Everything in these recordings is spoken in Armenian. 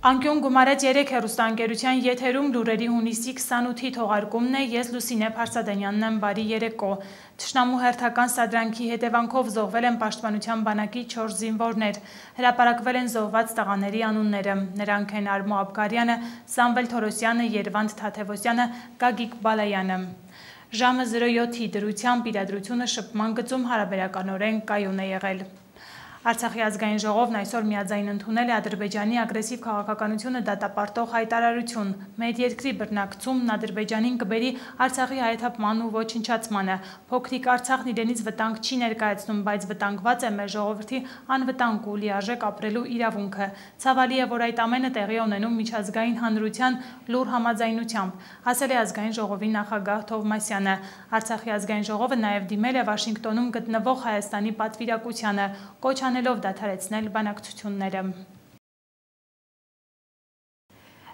Անկյուն գումարեց 3 հեռուստաընկերության եթերում լուրերի հունիսի 28-ի թողարկումն է, ես Լուսինե Փարսադանյանն եմ, բարի երեկո։ Թշնամու հերթական սադրանքի հետևանքով զոհվել են պաշտպանության բանակի 4 զինվորներ, հրապարակվել են զոհված տղաների անունները, նրանք են Արմո Աբգարյանը, Սամվել Թորոսյանը, Երվանդ Թաթևոսյանը, Գագիկ Բալայանը։ Ժամը 07-ի դրությամբ իրադրությունը շփման գծում հարաբերականորեն կայուն է եղել։ Արցախի ազգային ժողովն այսօր միաձայն ընդունել է Ադրբեջանի ագրեսիվ քաղաքականությունը դատապարտող հայտարարություն։ Մեր երկրի բռնակցումն Ադրբեջանին կբերի Արցախի հայաթափման ու ոչնչացմանը։ Փոքրիկ Արցախն իրենից վտանգ չի ներկայացնում, բայց վտանգված է մեր ժողովրդի անվտանգ ու լիարժեք ապրելու իրավունքը։ Ցավալի է, որ այդ ամենը տեղի է ունենում միջազգային հանրության լուր համաձայնությամբ, ասել է ազգային ժողովի նախագահ Թովմասյանը։ Արցախի ազգային ժողովը նաև դիմել է Վաշինգտոնում գտնվող Հայաստանի պատվիրակությանը, կոչ անելով դադարեցնել բանակցությունները։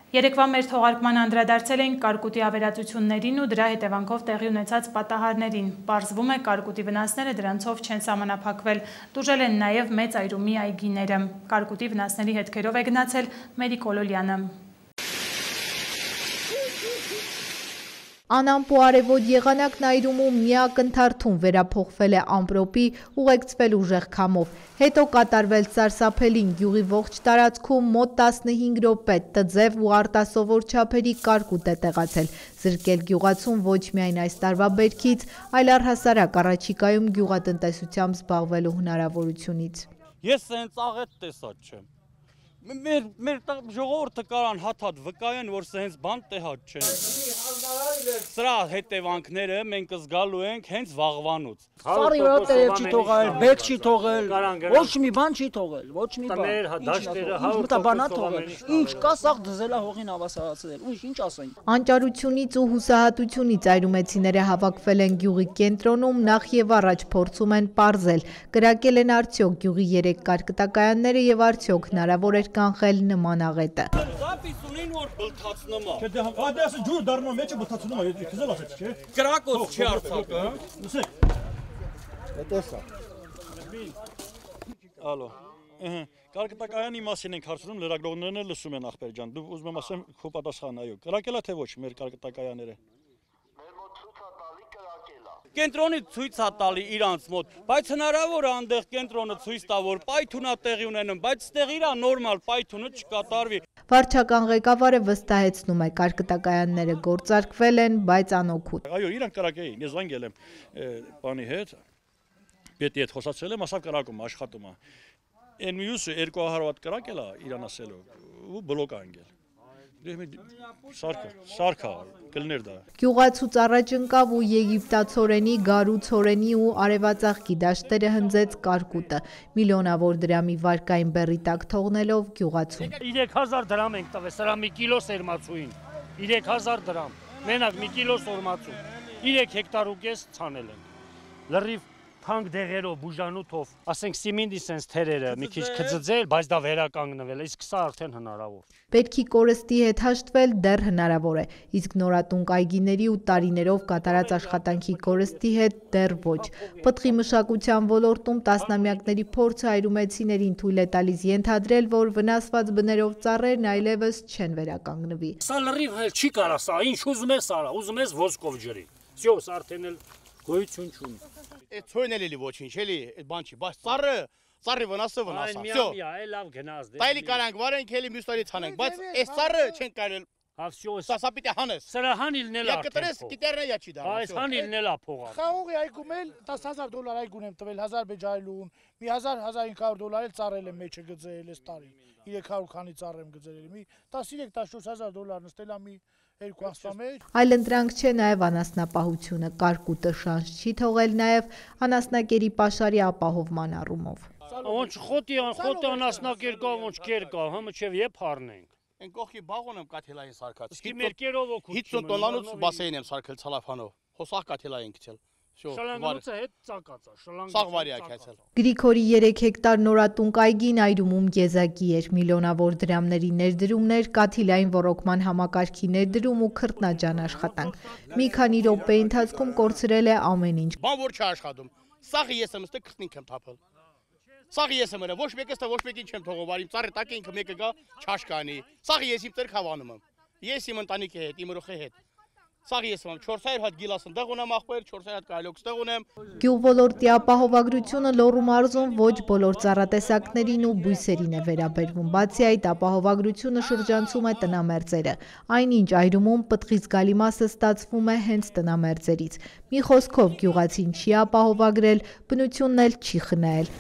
Երեկվա մեր թողարկման անդրադարձել ենք կարկուտի ավերածություններին ու դրա հետևանքով տեղի ունեցած պատահարներին։ Պարզվում է, կարկուտի վնասները դրանցով չեն սահմանափակվել, տուժել են նաև մեծ այրումի այգիները։ Կարկուտի վնասների հետքերով է գնացել Մերիկ Օլոլյանը։ Անամպու արևոտ եղանակն այրումում մի ակնթարթում վերափոխվել է ամպրոպի, ուղեկցվել ուժեղ քամով, հետո կատարվել սարսափելին գյուղի ողջ տարածքում մոտ 15 րոպե տձև ու արտասովոր չափերի կարկուտ է տեղացել, զրկել գյուղացուն ոչ միայն այս տարվա բերքից, այլ առհասարակ առաջիկայում գյուղատնտեսությամբ զբաղվելու հնարավորությունից։ Ես սենց աղետ տեսած չեմ։ Մեր ժողովուրդը կարան հաթաթ վկայեն, որ սենց բան տեղած չեն։ Սրա հետևանքները մենք զգալու ենք հենց վաղվանուց։ Սարի վրա տերև չի թողել, բեկ չի թողել, ոչ մի բան չի թողել, ոչ մի բան։ Տներ, դաշտերը, բանա թողել, ինչ կա սաղ դզելա հողին ավասարացել, ու ինչ ասենք։ Անճարությունից ու հուսահատությունից այրումեցիները հավաքվել են գյուղի կենտրոնում, նախ եւ առաջ փորձում են պարզել, կրակել են արդյոք գյուղի 3 կարկտակայանները եւ արդյոք հնարավոր էր կանխել նման աղետը։ Զապիս ունին որ բլթացնում է։ Չէ, դե ասը ջուր դառնում է, մեջը բլթացնում է, քեզ ասեց, չէ։ Կրակոց չի Արցախը։ Լսեք։ Հետեսա։ Ալո։ Կարկտակայանի մասին ենք հարցնում, լրագրողներն էլ լսում են ախպեր ջան։ Դու ուզում եմ ասեմ քո պատասխանը, այո։ Կրակելա թե ոչ մեր կարկտակայանները։ Կենտրոնի ցույց է տալի իրանց մոտ, բայց հնարավոր է այնտեղ կենտրոնը ցույց տա, որ պայթունա տեղի ունենում, բայց այստեղ իրա նորմալ պայթունը չկատարվի։ Վարչական ղեկավարը վստահեցնում է, կարկտակայանները գործարկվել են, բայց անօգուտ։ Այո, իրանք կրակեին, ես զանգել եմ բանի հետ, պետի հետ խոսացել եմ, ասավ կրակում աշխատում է։ Այն մյուսը 200 վատ կրակել է իրան ասելով ու բլոկ անգել։ Սարքա կլներ դա։ Գյուղացուց առաջ ընկավ ու եգիպտացորենի, գարու ցորենի ու արևածաղկի դաշտերը հնձեց կարկուտը, միլիոնավոր դրամի վարկային բեռի տակ թողնելով գյուղացուն։ 3000 դրամ ենք տվել, սրա մի կիլո սերմացուին, 3000 դրամ, մենակ մի կիլո սորմացու, 3 հեկտար ու կես ցանել են, լրիվ թանկ դեղերով, բուժանութով, ասենք սիմինդի սենց թերերը մի քիչ կծծել, բայց դա վերականգնվել է, իսկ սա արդեն հնարավոր։ Պետքի կորստի հետ հաշտվել դեռ հնարավոր է, իսկ նորատունկ այգիների ու տարիներով կատարած աշխատանքի կորստի հետ դեռ ոչ։ Պտղի մշակության ոլորտում տասնամյակների փորձը այրումեցիներին թույլ է տալիս ենթադրել, որ վնասված բներով ծառերն այլևս չեն վերականգնվի։ Սա լրիվ չի կարա սա, ինչ ուզում ես արա, ուզում ես ոսկով ջրի։ Всё, սա արդեն էլ գոյություն չունի։ Այդ ցույն էլի ոչինչ էլի, այդ բան չի, բայց ծառի վնասը վնասա։ Всё։ Այ լավ գնաց դե։ Տայլի կարանք վարենք, էլի մյուս տարի ցանենք, բայց այս ծառը չեն կարել։ Հա всё։ Սա պիտի հանես։ Սրա հանիլն էլ արդեն։ Կտրես կիտերնա չի դա։ Այս հանիլն էլ է փողա։ Խաղողի այգում էլ $10,000 այգուն եմ տվել, 1000 բեջայլուն, մի $1000-1500 էլ ծառել եմ մեջը գծել այս տարի։ 300 քանի ծառ եմ գծել, մի 13-14000 նստել է մի 2 ամսվա մեջ։ Այլ ընտրանք չէ նաև անասնապահությունը, կարկուտը շանս չի թողել նաև անասնակերի պաշարի ապահովման առումով։ Ոնց խոտի անասնակեր կա, ոնց կեր կա, հմը չէ եփ առնենք։ Այն կողքի բաղոն եմ կաթելային սարքած։ Իսկ մեր կերով օգուտ 50 տոննանոց բասեին եմ սարքել ցալաֆանով։ Հոսախ կաթելային գցել։ Շլանգանոցը հետ ծակած է, Սաղ վարի ակացել։ Գրիգորի 3 հեկտար նորատունկ այգին այրումում եզակի էր, միլիոնավոր դրամների ներդրումներ, կաթիլային ոռոգման համակարգի ներդրում ու քրտնաջան աշխատանք։ Մի քանի րոպեի ընթացքում կորցրել է ամեն ինչ։ Բան որ չի աշխատում։ Սաղը ես եմ ստե քրտնինք եմ թափել։ Սաղի ես եմ ըրը, ոչ մեկը ստա ոչ մեկին չեմ թողով, արիմ ծառը տակ ինքը մեկը գա չաշկանի։ Սաղի ես իմ ծեր խավանում եմ։ Ես իմ ընտանիքի հետ, իմ ռոխի հետ։ Սաղի ես եմ 400 հատ գիլասն դեղ ունեմ ախպեր, 400 հատ կայլոքս դեղ ունեմ։ Գյուղոլորտի ապահովագրությունը Լոռու մարզում ոչ բոլոր ծառատեսակներին ու բույսերին է վերաբերվում։ Բացի այդ, ապահովագրությունը շրջանցում է տնամերձերը։ Այնինչ այրումում պտղից գալի մասը ստացվում է հենց տնամերձերից։ Մի խոսքով գյուղացին չի ապահովագրել, բնությունն էլ չի խնայել։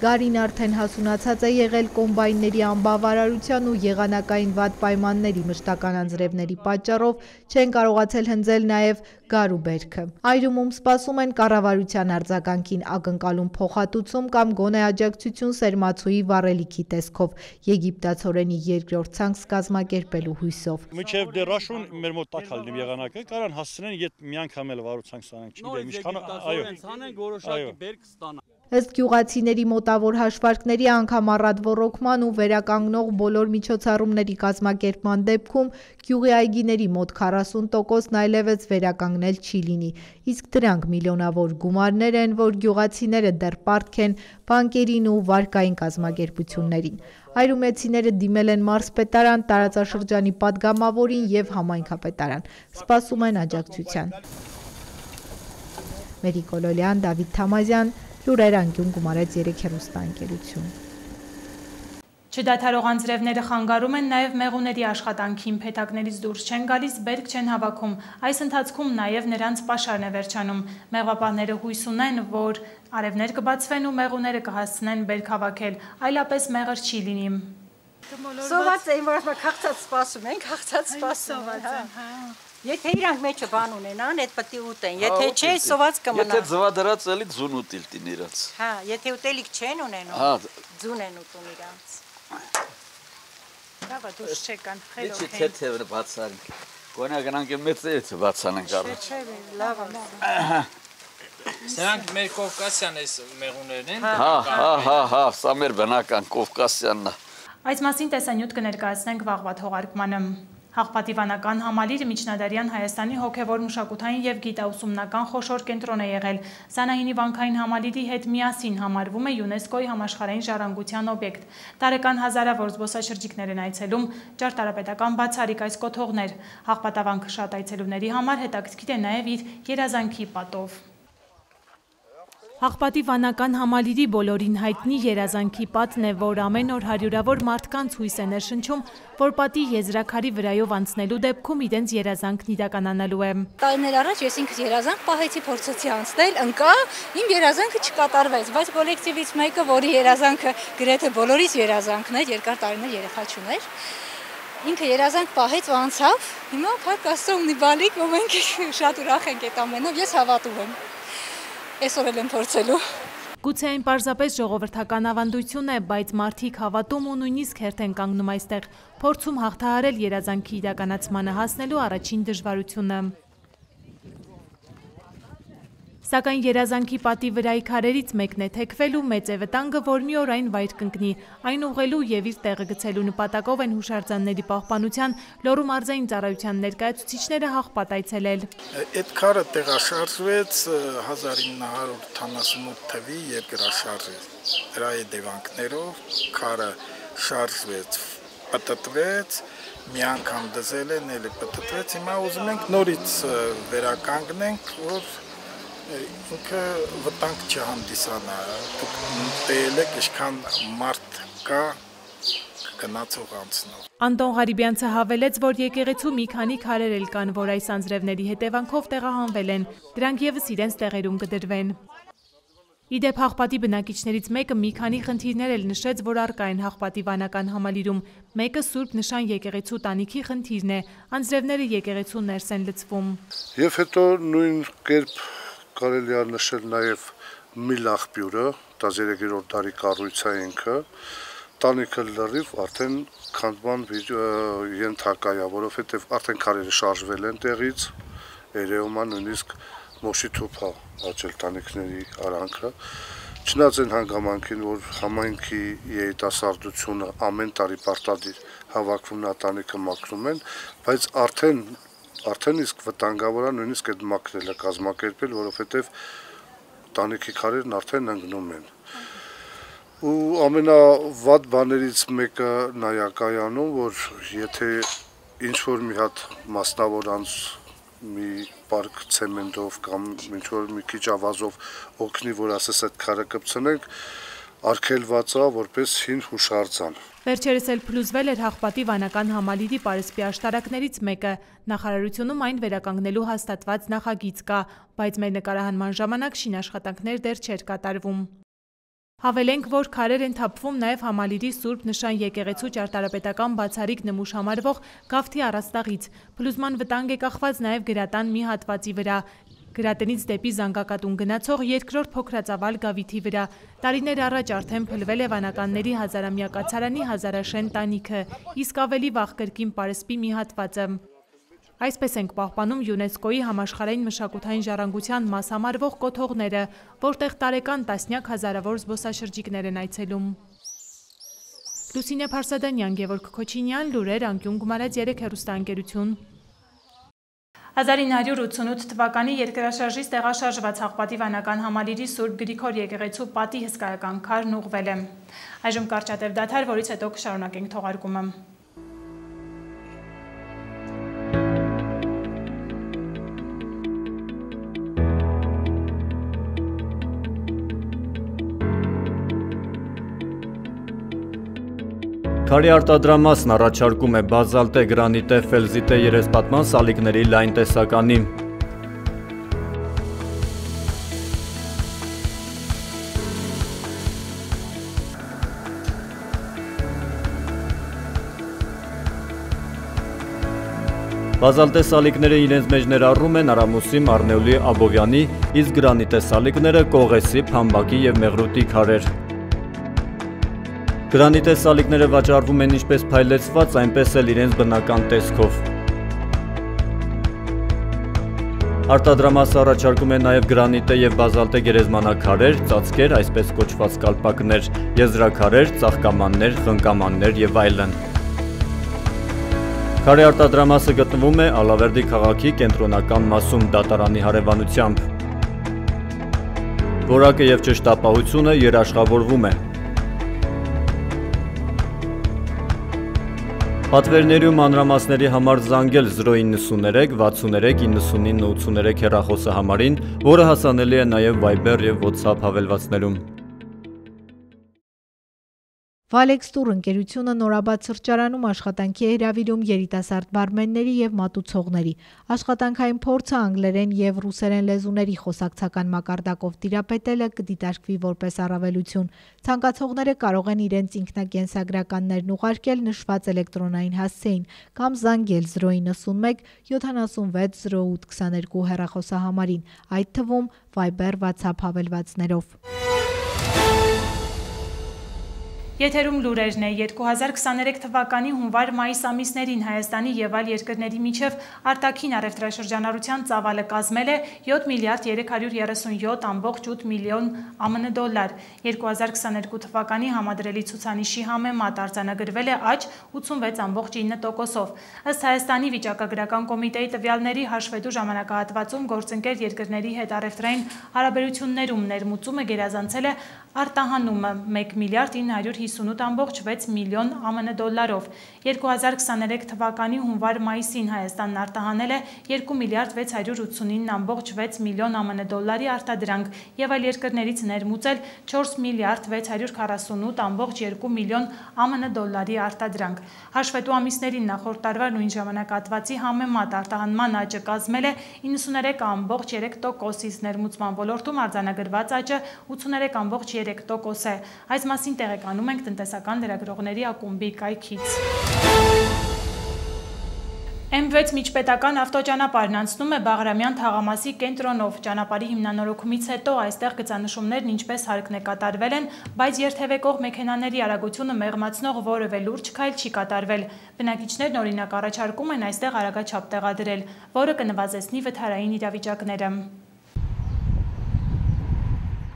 Գարին արդեն հասունացած է եղել կոմբայնների անբավարարության ու եղանակային վատ պայմանների մշտական անձրևների պատճառով չեն կարողացել հնձել նաև գարու բերքը։ Այրումում սպասում են կառավարության արձագանքին ակնկալում փոխհատուցում կամ գոնե աջակցություն սերմացուի վառելիքի տեսքով եգիպտացորենի երկրորդ ցանց կազմակերպելու հույսով։ Մինչև դեռ աշուն մեր մոտ տակալնի եղանակը կարան հասցնեն իդ մի անգամ էլ վարուցանք ստանանք, չգիտեմ ինչքան, այո։ Ըստ գյուղացիների մոտավոր հաշվարկների անգամ առատ ոռոգման ու վերականգնող բոլոր միջոցառումների կազմակերպման դեպքում գյուղի այգիների մոտ 40%-ն այլևս վերականգնել չի լինի, իսկ դրանք միլիոնավոր գումարներ են, որ գյուղացիները դեռ պարտք են բանկերին ու վարկային կազմակերպություններին։ Այրումեցիները դիմել են մարզպետարան, տարածաշրջանի պատգամավորին և համայնքապետարան, սպասում են աջակցության։ Մերիկ Օլոլյան, Դավիթ Թամազյան, Լուրեր անկյուն, Գումարեց 3 հեռուստաընկերություն։ Չդադարող անձրևները խանգարում են նաև մեղուների աշխատանքին, փեթակներից դուրս չեն գալիս, բերք չեն հավաքում։ Այս ընթացքում նաև նրանց պաշարն է վերջանում։ Մեղվապահները հույս ունեն, որ արևներ կբացվեն ու մեղուները կհասցնեն բերք հավաքել, այլապես մեղր չի լինի։ Սոված էին, որ քաղցած սպասում ենք, քաղցած սպասում են։ Եթե իրանք մեջը բան ունենան, այդ պետք է ուտեն, եթե չէ, սոված կմնա։ Եթե ձվադրած էլի ձուն ուտիլ տին իրաց։ Հա, եթե ուտելիք չեն ունենում, ձուն են ուտում իրանց։ Լավ է, դուրս չեկան, խելոք են։ Իչի թեթևը բացանք, գոնա գնանք մեծերից բացանենք առաջ։ Լավ է։ Սրանք մեր Կովկասյան էս մեղուներն են։ Հա, սա մեր բնական Կովկասյանն է։ Այս մասին տեսանյութ կներկայացնենք վաղվա թողարկմանը։ Հաղպատիվանական համալիրը միջնադարյան Հայաստանի հոգևոր մշակութային և գիտաուսումնական խոշոր կենտրոն է եղել։ Սանահինի վանքային համալիրի հետ միասին համարվում է ՅՈՒՆԵՍԿՕ-ի համաշխարհային ժառանգության օբյեկտ։ Տարեկան հազարավոր զբոսաշրջիկներ են այցելում, ճարտարապետական բացառիկ այս կոթողներ։ Հաղպատավանքը շատ այցելուների համար հետաքրքիր է նաև իր երազանքի պատով։ Հաղպատի վանական համալիրի բոլորին հայտնի երազանքի պատն է, որ ամեն օր հարյուրավոր մարդկանց հույս է ներշնչում, որ պատի եզրաքարի վրայով անցնելու դեպքում իրենց երազանքն իրականանալու է։ Տարիներ առաջ ես ինքս երազանք պահեցի, փորձեցի անցնել, ընկա, իմ երազանքը չկատարվեց, բայց կոլեկտիվից մեկը, որի երազանքը գրեթե բոլորիս երազանքն էր, երկար տարիներ երեխա չուներ, ինքը երազանք պահեց ու անցավ, հիմա փառք Աստծո ունի բալիկ, ու մենք շատ ուրախ ենք այդ ամենով, ես հավատում եմ։ Այսօր էլ եմ փորձելու։ Գուցե այն պարզապես ժողովրդական ավանդություն է, բայց մարդիկ հավատում ու նույնիսկ հերթ են կանգնում այստեղ, փորձում հաղթահարել երազանքի իրականացմանը հասնելու առաջին դժվարությունը։ Սակայն երազանքի պատի վրայի քարերից մեկն է թեքվելու, մեծ է վտանգը, որ մի օր այն վայր կընկնի, այն ուղղելու և իր տեղը գցելու նպատակով են հուշարձանների պահպանության Լոռու մարզային ծառայության ներկայացուցիչները Հաղպատ այցելել։ Այդ քարը տեղաշարժվեց 1978 թվականի երկրաշարժի դրա հետևանքներով քարը շարժվեց, պտտվեց, մի անգամ դզել են, էլի պտտվեց, հիմա ուզում ենք նորից վերականգնենք, որ ինքը վտանգ չհանդիսանա, դուք տեել եք ինչքան մարդ կա գնացող անցնող։ Անտոն Ղարիբյանցը հավելեց, որ եկեղեցու մի քանի քարեր էլ կան, որ այս անձրևների հետևանքով տեղահանվել են, դրանք ևս իրենց տեղերում կդրվեն։ Իդեպ Հաղպատի բնակիչներից մեկը մի քանի խնդիրներ էլ նշեց, որ առկա են Հաղպատի վանական համալիրում։ Մեկը Սուրբ Նշան եկեղեցու տանիքի խնդիրն է, անձրևները եկեղեցու ներս են լցվում։ Եվ հետո նույն կերպ կարելի է նշել նաև միլ աղբյուրը, 13-րդ դարի կառույց է ինքը, տանիքը լրիվ արդեն քանդման ենթակա է, որովհետև արդեն քարերը շարժվել են տեղից, երևում է նույնիսկ մոշի թուփ է աճել տանիքների արանքը, չնայած այն հանգամանքին, որ համայնքի երիտասարդությունը ամեն տարի պարտադիր հավաքվում նա տանիքը մաքրում են, բայց արդեն իսկ վտանգավոր է նույնիսկ այդ մաքրելը կազմակերպել, որովհետև տանիքի քարերն արդեն ընկնում են։ Ու ամենավատ բաներից մեկը նա է կայանում, որ եթե ինչ-որ մի հատ մասնավոր անձ մի պարկ ցեմենտով կամ ինչ-որ մի քիչ ավազով օգնի, որ ասես այդ քարը կպցնենք, արգելված է որպես հին հուշարձան։ Վերջերս էլ փլուզվել էր Հաղպատի վանական համալիրի պարսպի աշտարակներից մեկը։ Նախարարությունում այն վերականգնելու հաստատված նախագիծ կա, բայց մեր նկարահանման ժամանակ շինաշխատանքներ դեռ չէր կատարվում։ Հավելենք, որ քարեր են թափվում նաև համալիրի Սուրբ Նշան եկեղեցու ճարտարապետական բացառիկ նմուշ համարվող գավթի առաստաղից։ Փլուզման վտանգ է կախված նաև գրատան մի հատվածի վրա։ Գրատնից դեպի Զանգակատուն գնացող երկրորդ փոքրածավալ գավիթի վրա։ Տարիներ առաջ արդեն փլվել է վանականների հազարամյա կացարանի հազարաշեն տանիքը, իսկ ավելի վաղ կրկին պարսպի մի հատվածը։ Այսպես ենք պահպանում ՅՈՒՆԵՍԿՕ-ի համաշխարհային մշակութային ժառանգության մաս համարվող կոթողները, որտեղ տարեկան տասնյակ հազարավոր զբոսաշրջիկներ են այցելում։ Լուսինե Փարսադանյան, Գևորգ Քոչինյան, լուրեր, անկյուն գումարած 3 հեռուստաընկերություն։ 1988 թվականի երկրաշարժից տեղաշարժված Հաղպատի վանական համալիրի Սուրբ Գրիգոր եկեղեցու պատի հսկայական քարն ուղղվել է։ Այժմ կարճատև դադար, որից հետո կշարունակենք թողարկումը։ Քարի արտադրամասն առաջարկում է բազալտե, գրանիտե, ֆելզիտե երեսպատման սալիկների լայն տեսականի։ Բազալտե սալիկները իրենց մեջ ներառում են Արամուսի, Մարնեուլի, Աբովյանի, իսկ գրանիտե սալիկները Կողեսի, Փամբակի և Մեղրուտի քարեր։ Գրանիտե սալիկները վաճառվում են ինչպես փայլեցված, այնպես էլ իրենց բնական տեսքով։ Արտադրամասը առաջարկում է նաև գրանիտե և բազալտե գերեզմանակարեր, ծածկեր, այսպես կոչված կալպակներ, եզրաքարեր, ծաղկամաններ, խնկամաններ և այլն։ Քարի արտադրամասը գտնվում է Ալավերդի քաղաքի կենտրոնական մասում դատարանի հարևանությամբ։ Որակը և ճշտապահությունը երաշխավորվում է։ Պատվերների ու մանրամասների համար զանգել 093 63 99 83 հեռախոսահամարին, որը հասանելի է նաև Viber և WhatsApp հավելվածներում։ Valex Tour ընկերությունը նորաբաց սրճարանում աշխատանքի է հրավիրում երիտասարդ բարմենների և մատուցողների։ Աշխատանքային փորձը անգլերեն և ռուսերեն լեզուների խոսակցական մակարդակով տիրապետելը կդիտարկվի որպես առավելություն։ Ցանկացողները կարող են իրենց ինքնակենսագրականներն ուղարկել նշված էլեկտրոնային հասցեին կամ զանգել 091 76 08 22 հեռախոսահամարին, այդ թվում Viber WhatsApp հավելվածներով։ Եթերում լուրերն է 2023 թվականի հունվար-մայիս ամիսներին Հայաստանի և այլ երկրների միջև արտաքին առևտրաշրջանառության ծավալը կազմել է 7 միլիարդ 337.8 միլիոն ԱՄՆ դոլար։ 2022 թվականի համադրելի ցուցանիշի համեմատ արձանագրվել է աճ 86.9%-ով։ Ըստ Հայաստանի վիճակագրական կոմիտեի տվյալների հաշվետու ժամանակահատվածում գործընկեր երկրների հետ առևտրային հարաբերություններում ներմուծումը գերազանցել է արտահանումը 1 միլիարդ 958.6 միլիոն ԱՄՆ դոլարով։ 2023 թվականի հունվար-մայիսին Հայաստանն արտահանել է 2 միլիարդ 689.6 միլիոն ԱՄՆ դոլարի արտադրանք և այլ երկրներից ներմուծել 4 միլիարդ 648.2 միլիոն ԱՄՆ դոլարի արտադրանք։ Հաշվետու ամիսներին նախորդ տարվա նույն ժամանակահատվածի համեմատ արտահանման աճը կազմել է 93.3%, իսկ ներմուծման ոլորտում արձանագրված աճը 83.3% է։ Այս մասին տեղեկանում ենք տնտեսական լրագրողների ակումբի կայքից։ M6 միջպետական ավտոճանապարհն անցնում է Բաղրամյան թաղամասի կենտրոնով։ Ճանապարհի հիմնանորոգումից հետո այստեղ գծանշումներն ինչպես հարկն է կատարվել են, բայց երթևեկող մեքենաների արագությունը մեղմացնող որևէ լուրջ քայլ չի կատարվել։ Բնակիչներն օրինակ առաջարկում են այստեղ արագաչափ տեղադրել, որը կնվազեցնի վթարային իրավիճակները։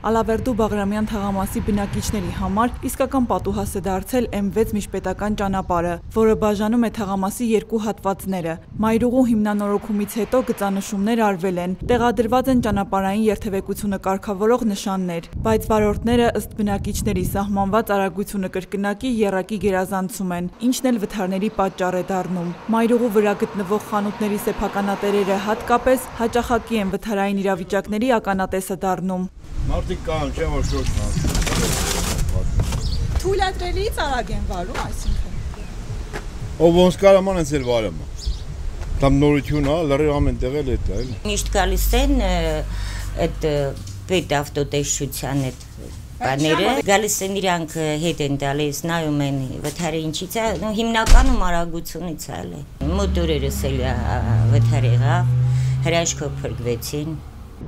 Ալավերդու Բաղրամյան թաղամասի բնակիչների համար իսկական պատուհաս է դարձել M6 միջպետական ճանապարհը, որը բաժանում է թաղամասի երկու հատվածները։ Մայրուղու հիմնանորոգումից հետո գծանշումներ արվել են, տեղադրված են ճանապարհային երթևեկությունը կարգավորող նշաններ, բայց վարորդները ըստ բնակիչների սահմանված արագությունը կրկնակի եռակի գերազանցում են, ինչն էլ վթարների պատճառ է դառնում։ Մայրուղու վրա գտնվող խանութների սեփականատերերը հատկապես հաճախակի են վթարային իրավիճակների ականատեսը դառնում։ Մարդիկ կան, չէ՞ որ շոշն Թույլատրելիից արագ են վարում, այսինքն։ Ով ոնց կարաման են ծեր վարում։ Там նորություն է, լրիվ ամեն տեղ էլ է, այլ։ Միշտ գալիս են այդ պետավտոտեսչության այդ բաները, գալիս են իրանք հետ են տալիս, նայում են վթարը ինչից է, հիմնականում արագությունից է, մոտորերս էլ վթար եղավ, հրաշքով փրկվեցին։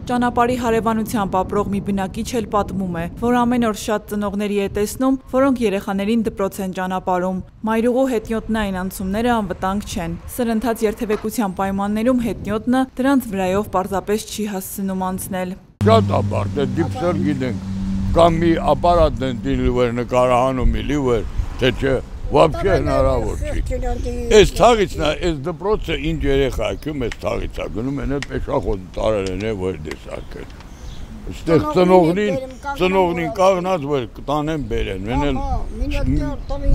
Ճանապարհի հարևանությամբ ապրող մի բնակիչ էլ պատմում է, որ ամեն օր շատ ծնողների է տեսնում, որոնք երեխաներին դպրոց են ճանապարհում։ Մայրուղու հետնյոտնային անցումները անվտանգ չեն։ Սրընթաց երթևեկության պայմաններում հետնյոտնը դրանց վրայով պարզապես չի հասցնում անցնել։ Շատ ապարտ է, դիպսեր գիտենք, կամ մի ապարատ են դինլիվեր նկարահանում իլիվեր, թե չէ, Вообще հնարավոր չի։ Այս թաղից նա, այս դպրոցը ինչ երեխա ակում այս թաղից է, գնում են այդ պեշախոդ տարել են որ դեսակել։ Այստեղ ծնողնին կաղնած որ տանեն բերեն, մեն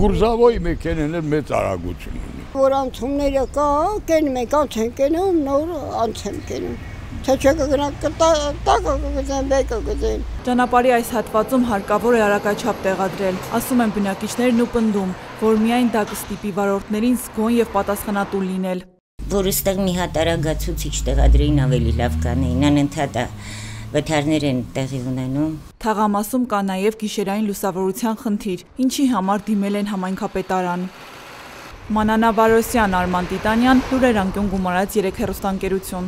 գուրզավոյի մեքենեն էլ մեծ արագություն ունի։ Որ անցումները կա, կենում ենք, անց են կենում, նոր անց են կենում։ Թե չէ կգնանք տակը կգծեն, բեկը կգծեն։ Ճանապարհի այս հատվածում հարկավոր է արագաչափ տեղադրել, ասում են բնակիչներն ու պնդում, որ միայն դա կստիպի վարորդներին զգոն եւ պատասխանատու լինել։ Որ այստեղ մի հատ արագացուցիչ տեղադրեին ավելի լավ կանեին, անընդհատ վթարներ են տեղի ունենում։ Թաղամասում կա նաեւ գիշերային լուսավորության խնդիր, ինչի համար դիմել են համայնքապետարան։ Մանանա Վարոսյան, Արման Տիտանյան, լուրեր անկյուն գումարած 3 հեռուստաընկերություն։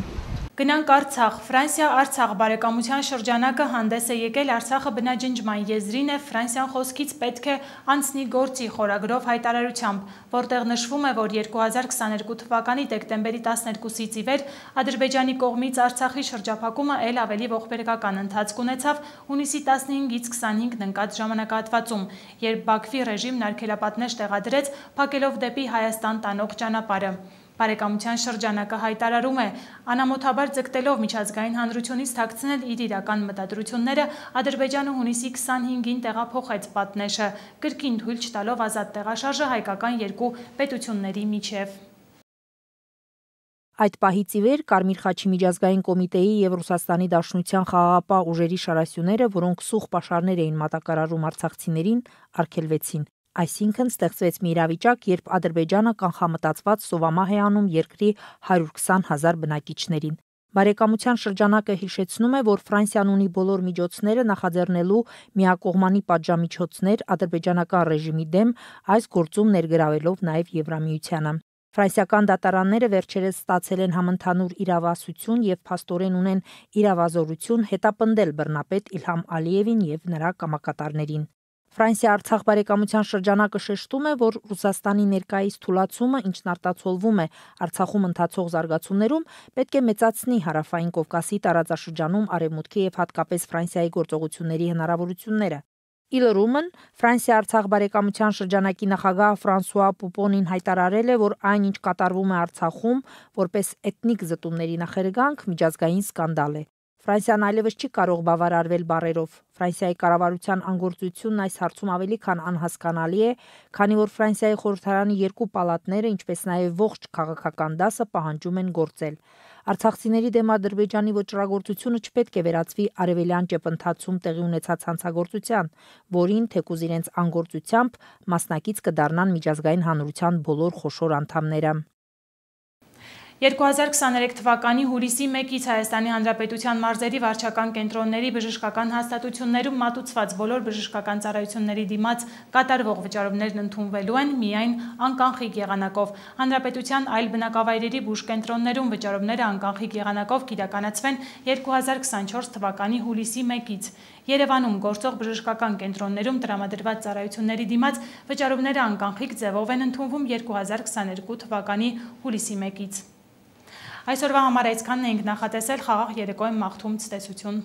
Գնանք Արցախ։ Ֆրանսիա-Արցախ բարեկամության շրջանակը հանդես է եկել Արցախը բնաջնջման եզրին է Ֆրանսիան խոսքից պետք է անցնի գործի խորագրով հայտարարությամբ, որտեղ նշվում է, որ 2022 թվականի դեկտեմբերի 12-ից ի վեր Ադրբեջանի կողմից Արցախի շրջափակումը ել ավելի ողբերգական ընթացք ունեցավ հունիսի 15-ից 25-ն ընկած ժամանակահատվածում, երբ Բաքվի ռեժիմն արգելապատնեշ տեղադրեց փակելով դեպի Հայաստան տանող ճանապարհը։ Բարեկամության շրջանակը հայտարարում է, անամոթաբար ձգտելով միջազգային հանրությունից թաքցնել իր իրական մտադրությունները, Ադրբեջանը հունիսի 25-ին տեղափոխեց պատնեշը, կրկին թույլ չտալով ազատ տեղաշարժը հայկական երկու պետությունների միջև։ Այդ պահից ի վեր Կարմիր խաչի միջազգային կոմիտեի եւ Ռուսաստանի Դաշնության խաղաղապահ ուժերի շարասյուները, որոնք սուղ պաշարներ էին մատակարարում արցախցիներին, արգելվեցին։ Այսինքն ստեղծվեց մի իրավիճակ, երբ Ադրբեջանը կանխամտածված սովամահ է անում երկրի 120,000 բնակիչներին։ Բարեկամության շրջանակը հիշեցնում է, որ Ֆրանսիան ունի բոլոր միջոցները նախաձեռնելու միակողմանի պատժամիջոցներ ադրբեջանական ռեժիմի դեմ, այս գործում ներգրավելով նաև Եվրամիությանը։ Ֆրանսիական դատարանները վերջերս ստացել են համընդհանուր իրավասություն եւ փաստորեն ունեն իրավազորություն հետապնդել բռնապետ Իլհամ Ալիևին եւ նրա կամակատարներին։ Ֆրանսիա-Արցախ բարեկամության շրջանակը շեշտում է, որ Ռուսաստանի ներկայիս թուլացումը, ինչն արտացոլվում է Արցախում ընթացող զարգացումներում, պետք է մեծացնի Հարավային Կովկասի տարածաշրջանում արևմուտքի եւ հատկապես Ֆրանսիայի գործողությունների հնարավորությունները։ Իլրումն Ֆրանսիա-Արցախ բարեկամության շրջանակի նախագահ Ֆրանսուଆ Պուպոնին հայտարարել է, որ այն, ինչ կատարվում է Արցախում, որպես էթնիկ զտումների նախերգանք, միջազգային սկանդալ է։ Ֆրանսիան այլևս չի կարող բավարարվել բառերով։ Ֆրանսիայի կառավարության անգործությունն այս հարցում ավելի քան անհասկանալի է, քանի որ Ֆրանսիայի խորհրդարանի երկու պալատները, ինչպես նաև ողջ քաղաքական դասը պահանջում են գործել։ Արցախցիների դեմ Ադրբեջանի վճռագործությունը չպետք է վերածվի արևելյան ճեպընթացում տեղի ունեցած հանցագործության, որին թեկուզ իրենց անգործությամբ մասնակից կդառնան միջազգային հանրության բոլոր խոշոր անդամները։ 2023 թվականի հուլիսի 1-ից Հայաստանի Հանրապետության մարզերի վարչական կենտրոնների բժշկական հաստատություններում մատուցված բոլոր բժշկական ծառայությունների դիմաց կատարվող վճարումներն ընդունվելու են միայն անկանխիկ եղանակով։ Հանրապետության այլ բնակավայրերի բուժկենտրոններում վճարումները անկանխիկ եղանակով կիրականացվեն 2024 թվականի հուլիսի 1-ից։ Երևանում գործող բժշկական կենտրոններում տրամադրված ծառայությունների դիմաց վճարումները անկանխիկ ձևով են ընդունվում 2022 թվականի հուլիսի 1-ից։ Այսօրվա համար այսքանն էինք նախատեսել, խաղաղ երեկո եմ մաղթում, ցտեսություն։